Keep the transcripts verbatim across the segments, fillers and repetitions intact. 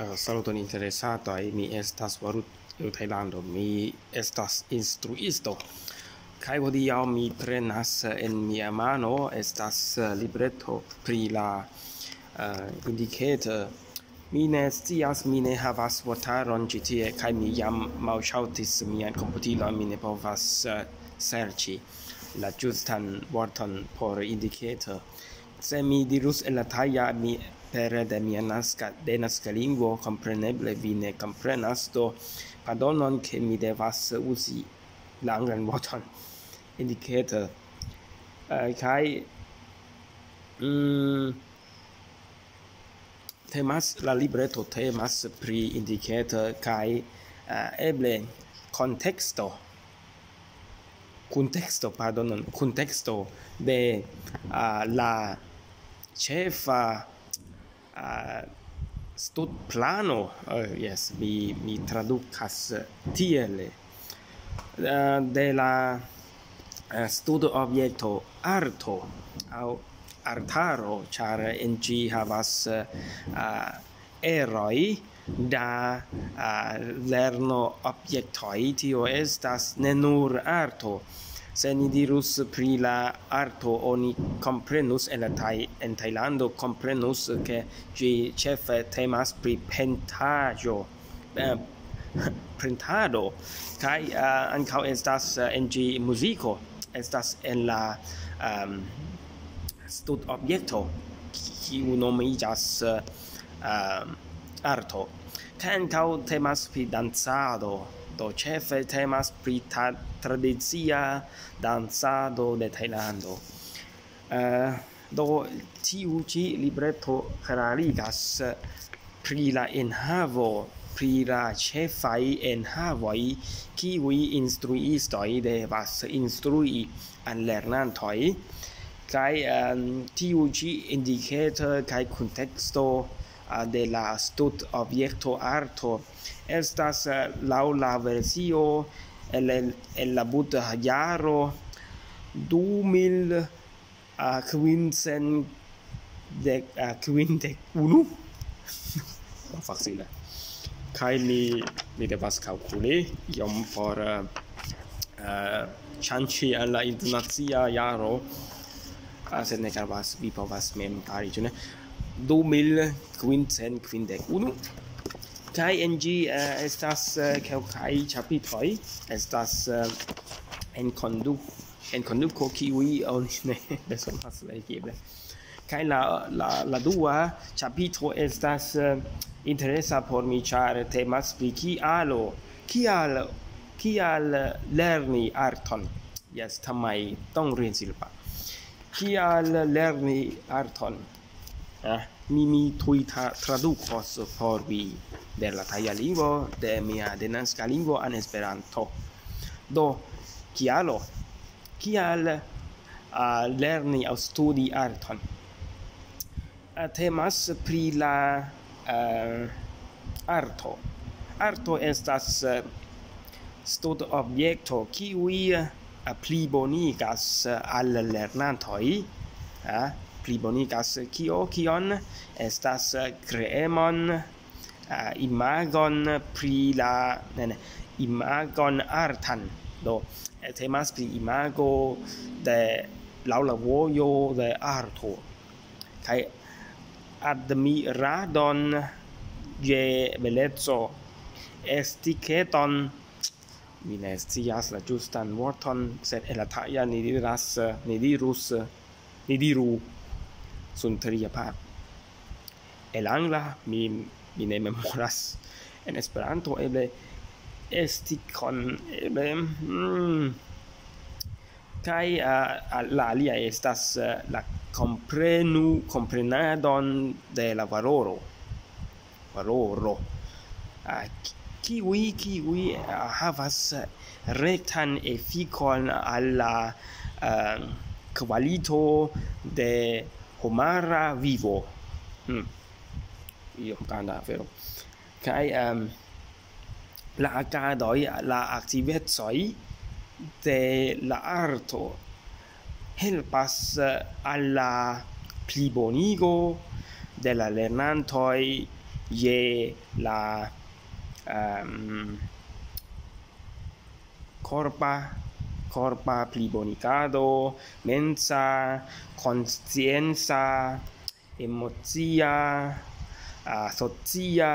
Eh, saluton interesatoj, mi estas Varut el Tajlando, mi estas instruisto. Kaj hodiaŭ mi prenas en mia mano, estas eh, libreto pri la uh, indicator. Mi ne scias, mi ne havas vortaron ĉi tie, kaj mi jam malŝaltis mian komputilon, mi ne povas uh, serĉi la ĝustan vorton por indicator. Se mi dirus en la taja, mi pere de mia naska, de naska lingvo, kompreneble vi ne komprenas, do pardonon, ke mi devas uzi la anglan vorton indicator. Uh, kaj mm, temas, la libreto temas pri indicator kaj uh, eble konteksto, kunteksto, pardonon, kunteksto de uh, la ĉefa uh, studplano, uh, yes, mi, mi tradukas tiele, uh, de la uh, studobjekto arto aŭ artaro, ĉar en ĝi havas uh, eroj da uh, lerno objektoj, tio estas ne nur arto. Se ni dirus pri la arto, oni komprenus en, la taj, en Tajlando, komprenus, ke ĝi ĉefe temas pri pentaĵo, eh, printado, kaj uh, ankaŭ estas uh, en ĝi muziko, estas en la um, studobjekto, kiu nomiĝas uh, um, arto. Kaj ankaŭ temas pri dancado, do ĉefe temas pri ta- tradicia dancado de Tajlando. Uh, do tiu ĉi libreto klarigas pri la enhavo, pri la ĉefaj enhavoj, kiuj instruistoj devas instrui al lernantoj. Kaj um, tiu ĉi indicator kaj kunteksto uh, de la studobjekto arto estas uh, laŭ la versio el, el la buta jaro du mil quince de uh, quince unu. Facile. Kaj mi, mi devas kalkuli iom por uh, uh, ŝanĝi al la internacia jaro, uh, sed ne gravas, vi povas mem fari, ĉu ne? Du mil quince quince unu. Kaj en ĝi uh, estas uh, kelkaj ĉapitroj, estas uh, en kondu en konduko, kiuj oni ne bezonas legeble. Kaj la, la, la dua ĉapitro estas uh, interesa por mi, ĉar temas pri kialo, kial, kial lerni arton. Jes, tamaj tonrinsilpa. Kial lerni arton? Eh, mi, mi tuj tra- tradukos por vi de la taja lingvo, de mia denaska lingvo en Esperanto. Do, kialo? Kial uh, lerni aŭ studi arton? Uh, temas pri la uh, arto. Arto estas uh, studobjekto, kiuj uh, plibonigas uh, al lernantoj, uh, plibonigas kio, kion, estas uh, kreemon, uh, imagon pri la, ne, ne, imagon artan. Do, eh, temas pri imago de laŭ la vojo de arto. Kaj admiradon je beleco, estiketon, mi ne scias la ĝustan vorton, sed en la taja ni diras, ni dirus, ni diru, sun tria par. El angla mi, mi ne memoras. En Esperanto eble estikon, eble mm, kaj uh, la alia estas uh, la komprenu, komprenadon de la valoro. Valoro. Uh, kiuj, kiuj uh, havas rektan efikon al la uh, kvalito de homara vivo. Hmm. Iom granda afero. Kaj um, la agadoj, la aktivecoj de la arto helpas uh, al la plibonigo de la lernantoj je la um, korpa korpa plibonigado, mensa, konscienca, emocia, uh, socia,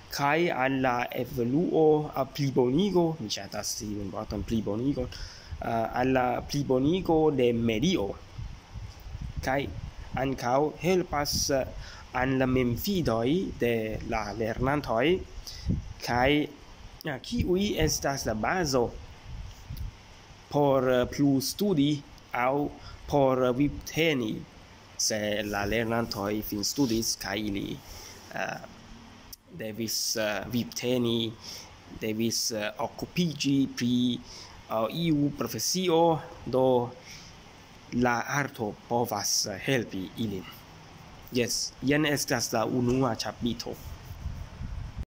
kaj al la evoluo, al plibonigo, mi ŝatas tiun vorton, plibonigo, uh, al la plibonigo de medio, kaj ankaŭ helpas uh, al la memfidoj de la lernantoj, kaj uh, kiuj estas la bazo por uh, plu studi aŭ por uh, vivteni, se la lernantoj finstudis kaj ili uh, devis uh, vivteni, devis uh, okupiĝi pri uh, iu profesio, do la arto povas uh, helpi ilin. Jes, jen estas la unua ĉapitro.